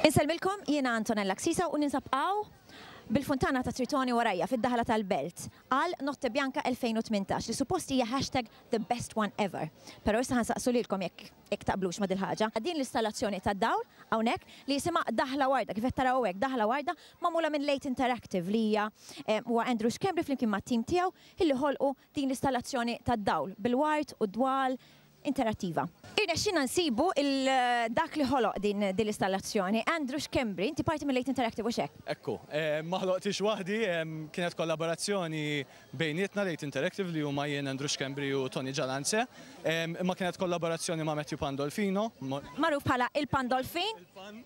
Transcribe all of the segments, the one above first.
Insellmilkom, jiena Antonella Ksisa u ninsab hawn bil-funtana ta' Tritoni warajja fid-daħla tal-Belt għal Notte Bianca 2018 li suppost hija hashtag the best one ever. Però issa ħa nsaqsu lilkom jekk jekk taqblux ma' dil-ħaġa. Din l-istallazzjoni tad-dawl hawnhekk li jisimha Daħla Warda, kif qed taraw hawnhekk, Daħla Warda magħmula minn Late Interactive li hija huwa Andrew Schembri flimkien mat-tim tiegħu illi ħolqu din l-istallazzjoni tad-dawl bil-ward u d-dwal interattiva. Irnexxielna nsibu il dak li ħoloq din din l-istallazzjoni, Andrew Schembri, inti parti minn Late Interactive hux hekk? Ekku. Ma ħloqthiex waħdi, kienet kollaborazzjoni bejnietna Late Interactive li huma jien Andrew Schembri u Tony Gialanze. Imma kienet kollaborazzjoni ma' Matthew Pandolfino. Magħruf bħala il-Pandolfin. Il-Pan.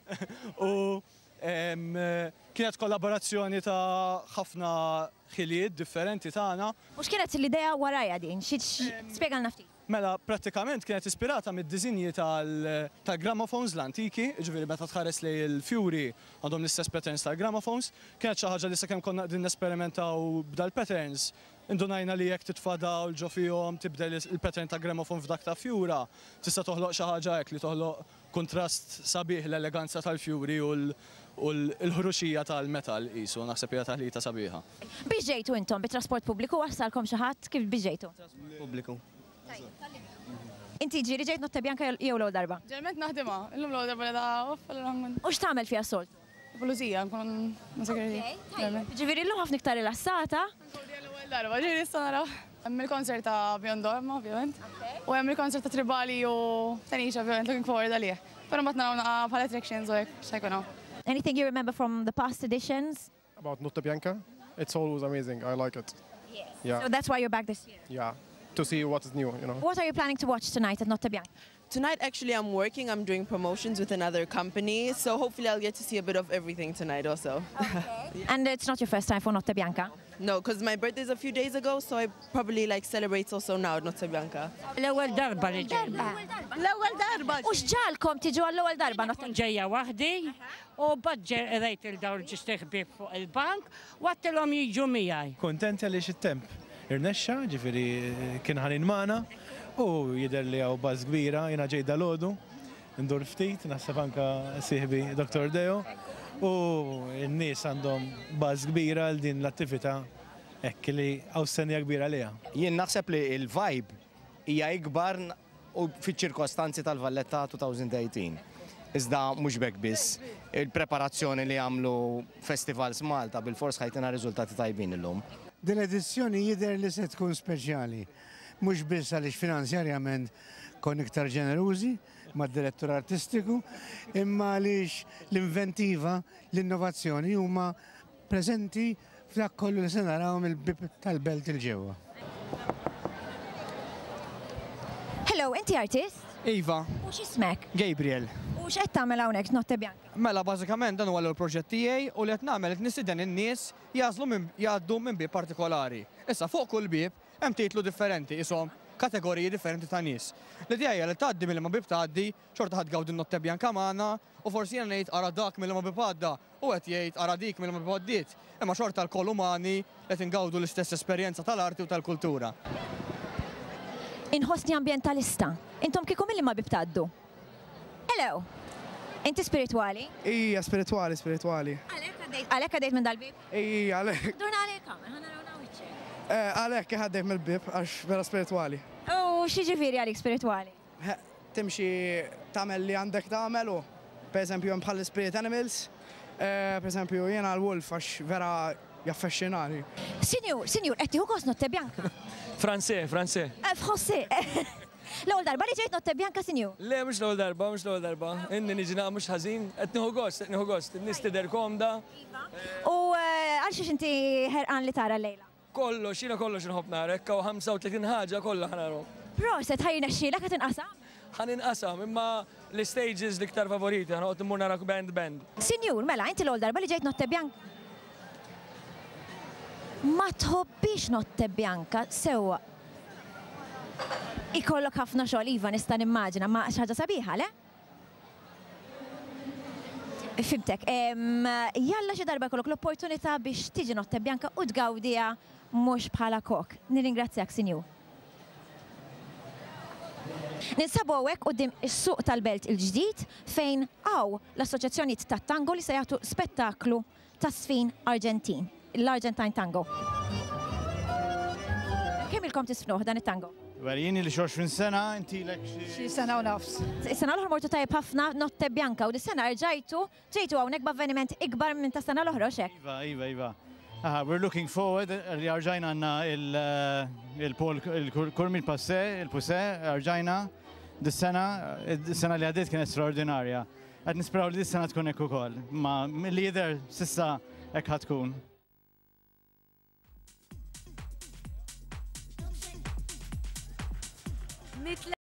U kienet kollaborazzjoni ta' ħafna ħiliet differenti tagħna. U x'kienet l-idea warajha din? Xi spjegalna ftit. Mela, prattikament kienet ispirata mid-disinji tal-gramophones l-antiki, jiġifieri meta tħares lejn il-fjuri għandhom l-istess patterns tal-gramophones. Kienet xi ħaġa li sakemm konna qegħdin nesperimentaw b'dal-patterns, indunajna li jekk titfa' dawl ġo fihom, tibdel il-pattern ta' gramophone f'dak ta' fjura, tista' toħloq xi ħaġa hekk li toħloq kuntrast sabiħ l-eleganza tal-fjuri u l-ħruxija tal-metall qisu, naħseb hija taħlita sabiħa. Biex ġejtu intom? Bit-trasport pubbliku wassalkom xi ħadd? Kif biex ġejtu? Trasport pubbliku. Inti ġieli ġejt Notte Bianca jew l-ewwel darba? Ġeneralment naħdimha, illum l-ewwel darba li da off allura nkun. U x'tagħmel fiha s-soltu? Pulizija, nkun ma' security. Ok, ġifieri llum ħafna iktar rilassata. L-ewwel darba, ġifieri issa naraw. Hemm il-concert ta' Beyond Dogma, ovvjament. U hemm il-concert ta' Tribali u Tanisha, ovvjament, looking forward għalih. Però mbagħad naraw naqa' bħal attractions u hekk x'ħa jkun hawn. Anything you remember from the past editions? About Notte Bianca? It's always amazing. I like it. Yes. Yeah. So that's why you're back this year? Yeah. To see what is new, you know. What are you planning to watch tonight at Notte Bianca? Tonight, actually, I'm working. I'm doing promotions with another company. So hopefully I'll get to see a bit of everything tonight also. Okay. And it's not your first time for Notte Bianca? No, because my birthday's a few days ago, so I probably like celebrate also now at Notte Bianca. L-ewwel darba li ġejna. L-ewwel darba. U x'ġagħalkom tiġu għall-ewwel darba Notte? Ġejja waħdi u mbagħad rajt 'il dawn ġust ħbieb fuq il-bank u għedtilhom jiġu miegħi. Kuntenti għaliex it-temp irnexxa, ġifieri kien ħanin magħna u jidher li hawn buzz kbira, jiena ġejt dalgħodu ndur ftit, naħseb anka sieħbi Dr. Deo u n-nies għandhom buzz kbira għal din l-attività hekk li hawn stennija kbira għaliha. Jien naħseb li l-vibe hija ikbar u fiċ-ċirkostanzi tal-Valletta 2018. Iżda mhux b'hekk biss, il-preparazzjoni li għamlu Festivals Malta bil-fors ħa jtina riżultati tajbin illum. Din l-edizzjoni jidher li se tkun speċjali, mhux biss għaliex finanzjarjament konna iktar ġenerużi mad-direttur artistiku, imma għaliex l-inventiva, l-innovazzjoni huma preżenti f'dak kollu li se naraw mill-bib tal-belt 'il ġewwa. Hello, inti artist? Iva. U x'ismek? Gabriel. U x'qed tagħmel hawnhekk Notte Bianca? Mela bażikament dan huwa l-ewwel proġett tiegħi u li qed nagħmel qed nistieden in-nies jagħżlu minn jgħaddu minn bieb partikolari. Issa fuq kull bieb hemm titlu differenti, ishom kategoriji differenti ta' nies. L-idea hija li tgħaddi minn liema bieb tgħaddi, xorta ħa tgawdi n-Notte Bianca magħna u forsi jiena ngħid ara dak minn liema bieb għadda u qed jgħid ara dik minn liema bieb għaddiet. Imma xorta lkoll umani li qed ingawdu l-istess esperjenza tal-arti u tal-kultura. Inħossni ambjentalista. Intom kieku minn liema bieb tgħaddu? Hello! Inti spiritwali? Ija, spiritwali, spiritwali. Għalhekk għaddejt, għalhekk għaddejt minn dal-bieb? Ija, għalhekk. Durna għalek kamera, ħa naraw wiċċek. Għalhekk għaddejt mill-bieb għax vera spiritwali. U x'jiġifieri għalik spiritwali? Timxi tagħmel li għandek tagħmel u per eżempju hemm bħal spirit animals, per eżempju jiena l-wolf għax vera jaffexxinani. Sinjur, sinjur, qed tieħu gost Notte Bianca? Francais, Francais. Français. L-ewwel darba li ġejt Notte Bianca, sinjur? Le, mhux l-ewwel darba, mhux l-ewwel darba. Inni niġi naqra mhux ħażin, qed nieħu gost, qed nieħu gost. In-nies tidher komda. U għal xiex inti ħerqan li tara llejla? Kollox, jiena kollox inħobb nara, hekk hawn 35 ħaġa kollha ħa narahom. Proset, ħa jirnexxielek ħa tinqasam? Ħa ninqasam, imma l-stages l-iktar favoriti, ħa noqgħod immur nara band band. Sinjur, mela, inti l-ewwel darba li ġejt Notte Bianca? Ma tħobbix Notte Bianca, sewwa. Ikollok ħafna xogħol, iva, nista' nimmaġina, ma xi ħaġa sabiħa, le? Fhimtek. Jalla xi darba jkollok l-opportunità biex tiġi Notte Bianca u tgawdiha mhux bħala kok. Nirringrazzjak, sinjur. Ninsabu hawnhekk quddiem is-suq tal-Belt il-ġdid fejn hawn l-assoċjazzjonijiet tat-tango li se jagħtu spettaklu ta' żfin Arġentin, l-Argentine Tango. Kemm ilkom tiżfnuh dan it-tango? Well, jien ili xi 20 sena, inti ilek xi. Xi sena u nofs. Is-sena l-oħra mortu tajjeb ħafna Notte Bianca u dis-sena rġajtu ġejtu hawnhekk b'avveniment ikbar minn tas-sena l-oħra, hux hekk? Iva, iva, iva. Aha, we're looking forward li rġajna għandna il-Paul il-Kurmi il-Passe, il-Puse, rġajna dis-sena, is-sena li għaddiet kienet straordinarja. Qed nisperaw li dis-sena tkun hekk ukoll, ma milli jidher s'issa hekk ħa tkun.